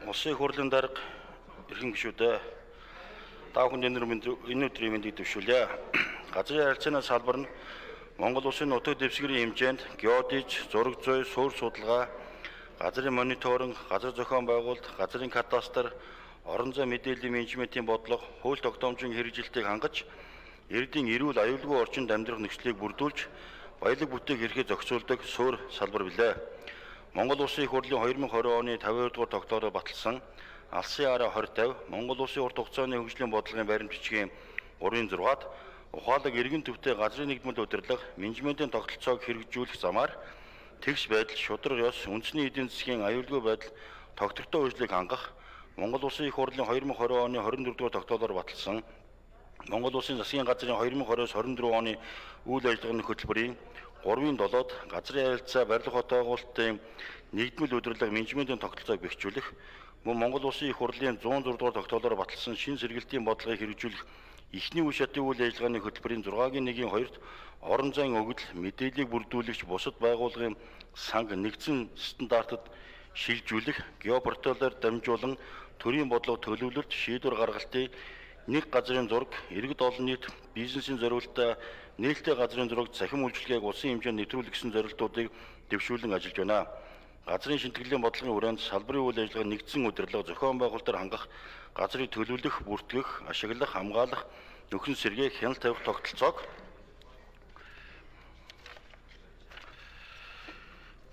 Улсын их хурлын дарга эрхэм гишүүдээ та бүхэнд энэ өдрийн мэндийг дэвшүүлье. Газрын харилцааны салбар нь Монгол улсын нутаг дэвсгэрийн хэмжээнд геодиж, зураг зүй, суурь судалгаа, газрын мониторинг, газар зохион байгуулалт, газрын кадастр, орон зай мэдээллийн менежментийн бодлого, хууль тогтоомжийн хэрэгжилтийг хангаж, иргэдийн эрүүл аюулгүй орчинд амьдрах нөхцөлийг бүрдүүлж, баялаг бүтээх эрхээ зохицуулдаг суурь салбар билээ. Монгол улсын их хурлын 2020 оны 52 дугаар тогтоолоор баталсан Алсын араа 2050 Монгол улсын урт хугацааны хөгжлийн бодлогын баримт бичгийн 3-6-ад ухаалаг иргэн төвтэй газрын нэгдмэл удирдлага, менежментийн тогтолцоог хэрэгжүүлэх замаар тэгш байдал, шудраг ёс, үндэсний эдийн засгийн аюулгүй байдал, тогтвортой үйлчлэгийг хангах Монгол улсын их хурлын 2020 оны 24 дугаар тогтоолоор баталсан Монгол улсын засгийн газрын 2020-с 24 оны үйл ажиллагааны хөтөлбөрийн 3-7-д газрын харилцаа барилга хот байгуулалтын нэгдмэл удирдлага менежментийн тогтолцоог бэхжүүлэх, мөн Монгол улсын их хурлын 106 дугаар тогтоолоор баталсан шин сэргэлтийн бодлогыг хэрэгжүүлэх эхний үе шатын үйл ажиллагааны хөтөлбөрийн 6-гийн 1-2-т орон зайн өгөгдөл мэдээллийг бүрдүүлэгч бусад байгууллагын санг нэгдсэн стандартад шилжүүлэх, геопорталаар дамжуулан төрийн бодлого төлөвлөлт, шийдвэр гаргалтын нэг газрын зураг, иргэд олон нийт бизнесийн зориулалтаа нээлттэй газрын зураг захим үйлчилгээг улсын хэмжээнд нэвтрүүлэх гэсэн зорилтуудыг дэвшүүлэн ажиллаж байна. Газрын шинтгэлийн бодлогын хүрээнд салбарын үйл ажиллагаа нэгдсэн удирдлага зохион байгуулалтаар хангах, газрыг төлөвлөх, бүртгэх, ашиглах, хамгаалах, нөхөн сэргээх, хяналт тавих тогтолцоог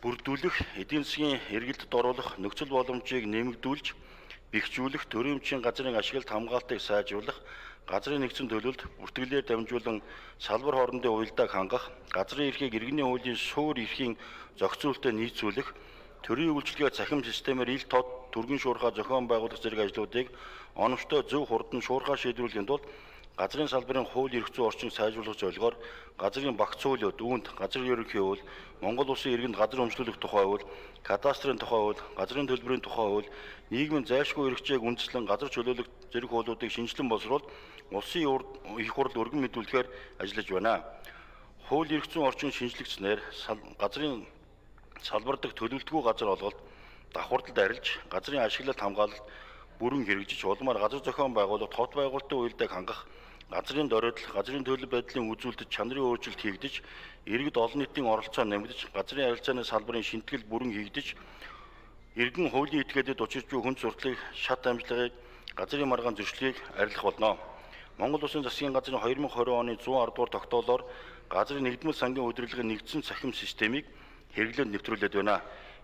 бүрдүүлэх, эдийн засгийн эргэлтэд оруулах нөхцөл боломжийг нэмэгдүүлж, бэхжүүлэх, төрийн өмчийн газрын ашиглалт хамгаалтыг сайжруулах, газрын нэгдсэн төлөлд бүртгэлээр дамжуулан салбар хоорондын уялдааг хангах, газрын эрхийг иргэний хуулийн суурь эрхийн зохицуулалтад нийцүүлэх, төрийн үйлчилгээ цахим системээр ил тод түргэн шуурхай зохион байгуулах зэрэг ажлуудыг оновчтой зөв хурдан шуурхай шийдвэрлэхийн тулд газрын салбарын хууль эрх зүйн орчинг сайжруулах зорилгоор газрын багц хуулиуд, үүнд газрын ерөнхий хууль, Монгол улсын иргэнд газар өмчлөх тухай хууль, кадастрын тухай хууль, газрын төлбөрийн тухай хууль, нийгмийн зайлшгүй эрхчээг үндэслэн газар чөлөөлөх зэрэг хуулиудыг шинжилэн боловсруулж улсын их хурл өргөн мэдүүлэхээр ажиллаж байна. Хууль эрх зүйн орчин шинжлэгдснээр газрын салбар дахь төлөвлөлтгүй газар олголт, давхардалд арилж, газрын ашиглалт хамгаалалт бүрэн хэрэгжиж, улмаар газар зохион байгуулалт, хот байгуулалтын уялдааг хангах, газрын доройдол, газрын төлөв байдлын үзүүлэлт, чанарын өөрчлөлт хийгдэж, иргэд олон нийтийн оролцоо нэмэгдэж, газрын харилцааны салбарын шинтгэл бүрэн хийгдэж, иргэн хуулийн этгээдэд учирч буй хүн сурталчилгыг, шат амжлагыг, газрын маргаан зөрчлийг арилгах болно. Монгол улсын засгийн газрын 2020 оны 110 дугаар тогтоолоор газрын нэгдмэл сангийн удирдлагын нэгдсэн цахим системийг хэрэглээд нэвтрүүлээд байна.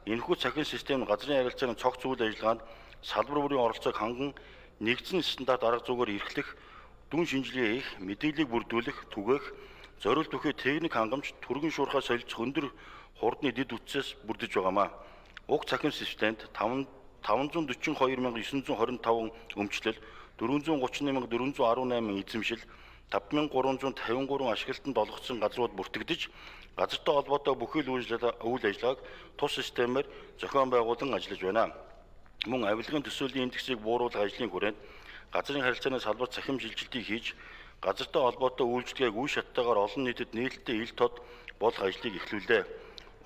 Энэхүү цахим систем нь газрын харилцааны цогц үйл ажиллагаанд салбар бүрийн оролцоог ханган нэгдсэн стандарт арга зүйгээр эрхлэх, дүн шинжилгээ хийх, мэдээллийг бүрдүүлэх, түгээх, зориулт бүхий техник хангамж, түргэн шуурхай солилцох өндөр хурдны дэд үтсээс бүрдэж байгаамаа. Уг цахим системд 542,925 өмчлөл, 431,418 эзэмшил, 5,353 ашиглалтанд олгогдсон газрууд бүртгэгдэж, газартай холбоотой бүхий л үйл ажиллагааг тус системээр зохион байгуулан ажиллаж байна. Мөн авилгын төсөөлийн индексийг бууруулах ажлын хүрээнд газрын харилцааны салбар цахим шилжилтийг хийж, газартай холбоотой үйлчлэгийг үе шаттайгаар олон нийтэд нээлттэй ил тод болох ажлыг эхлүүлээ.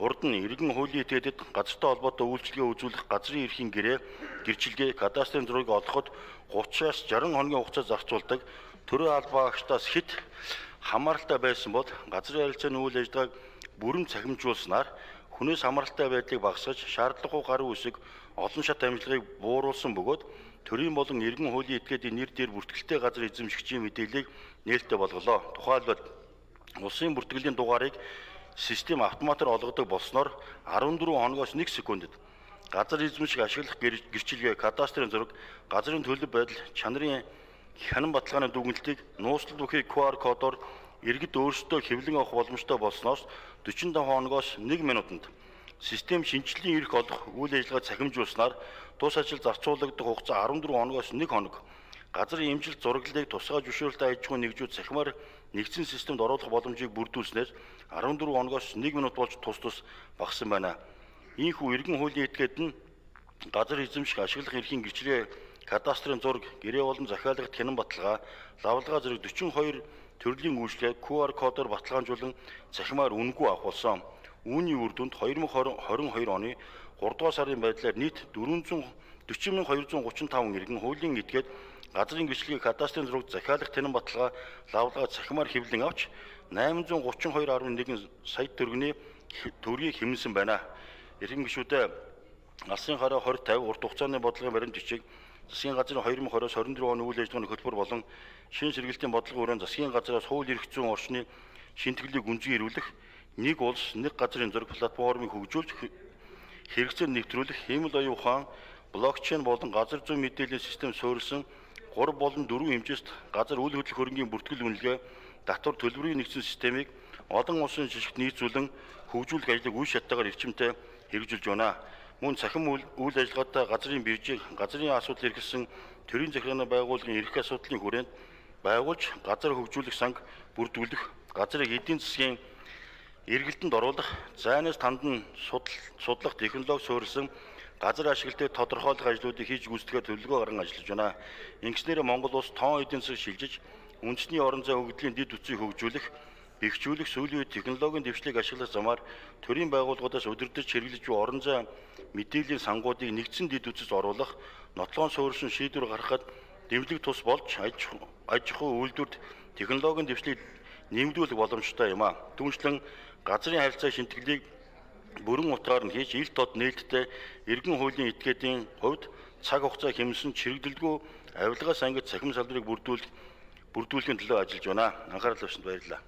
Урд нь иргэн хуулийн этгээдэд газартай холбоотой үйлчлэгээ үзүүлэх газрын эрхийн гэрчилгээ, кадастрын зургийг олоход 30-аас 60 хоногийн хугацаа зарцуулдаг төрийн албаа агштаас хэд хамааралтай байсан бол газрын харилцааны үйл ажиллагааг бүрэн цахимжуулснаар хүнээс хамааралтай байдлыг багасгаж, шаардлагагүй гаруй үсэг, олон шат амжилтыг бууруулсан бөгөөд төрийн болон иргэн хуулийн этгээдийн нэр дээр бүртгэлтэй газар эзэмшигчийн мэдээллийг нээлттэй болголоо. Тухайлбал улсын бүртгэлийн дугаарыг систем автоматар олгодог болсноор 14 хоногоос 1 секундэд газар эзэмших ашиглах гэрчилгээ, кадастрын зураг, газрын төлөв байдал, чанарын хянан баталгааны дүгнэлтийг нууцлал бүхий QR кодоор иргэд өөрсдөө хэвлэн авах боломжтой болсноос 45 хоногоос 1 минутанд систем шинжиллийн эрх олох үйл ажиллагаа цахимжуулснаар тус ажил зарцуулагдах хугацаа 14 хоногоос 1 хоног. Газрын эмчилт зураглалыг тусгай зөвшөөрөлтэй аж ахуйн нэгжүүд цахимаар нэгдсэн системд оруулах боломжийг бүрдүүлснээр 14 хоногоос 1 минут болж тус багассан байна. Ийхүү иргэн хуулийн этгээд нь газар эзэмших ашиглах эрхийн гэрчлэгээ, кадастрын зураг, гэрээ болон захиалгад хянан баталгаа, лавлгаа зэрэг 42 төрлийн үйлчлэгийг QR кодоор баталгаажуулан цахимаар үнэгүй авах болсон. Үүний үр дүнд 2022 оны 3 дугаар сарын байдлаар нийт 440,235 иргэн хуулийн этгээд газрын гэрчлэгийг кадастрын зураг захиалах тэнэн баталгаа лавлага цахимаар хэвлэн авч 832.1 сая төгрөгийг хэмнэсэн байна. Иргэн гишүүдээ алсын хараа 2050 урт хугацааны бодлогын баримт бичиг засгийн газрын 2020-с 24 оны үйл ажиллагааны хөтөлбөр болон шин сэргэлтийн бодлого өрөөнд засгийн газраас хууль эрх зүйн орчны шинтгэлийг гүнзгий ирүүлэх, нэг улс нэг газрын зураг платформыг хөгжүүлж хэрэгцээ нэвтрүүлэх, хиймэл оюун ухаан, блокчейн болон газар зүйн мэдээллийн систем суурилсан 3 болон 4 хэмжээст газар үйл хөдлөх хөрөнгийн бүртгэл үнэлгээ татвар төлбөрийн нэгдсэн системийг олон улсын жишгт нийцүүлэн хөгжүүлэх ажлыг үе шаттайгаар эрчимтэй хэрэгжүүлж байна. Мөн цахим үйл ажиллагаатай газрын биржийг газрын асуудал эргэлсэн төрийн захиргааны байгууллагын эрх асуудлын хүрээнд байгуулж газар хөгжүүлэх санг бүрдүүлэх, газрыг эдийн засгийн эргэлтэнд оруулах, зайнаас тандан судлах технологи суурилсан газар ашиглалтыг тодорхойлох ажлуудыг хийж гүйцэтгэхээр төлөвлөгөө гарган ажиллаж байна. Ингэснээр Монгол улс тоон эдийн засаг шилжиж, үндэсний орон зай өгөгдлийн дэд үтцийг хөгжүүлэх, бэхжүүлэх, сүүлийн үед технологийн дэвшлиг ашиглах замаар төрийн байгууллагуудаас удирдах хэрэглэж буй орон зай мэдээллийн сангуудыг нэгдсэн дэд үтцэд оруулах, нотлохоон суурилсан шийдвэр гаргахад дэмжлэг тус болж аж ахуй үйлдвэрт технологийн дэвшлиг нэмэгдүүлэх боломжтой юм а. Түүнчлэн газрын харилцаа шинтгэлийг бүрэн утгаар нь хийж ил тод нээлттэй иргэн хуулийн этгээдийн хувьд цаг хугацаа хэмнэсэн чирэгдэлгүй авилгаас ангид цахим салбарыг бүрдүүлэхийн төлөө ажиллаж байна. Анхаарал тавьсанд баярлалаа.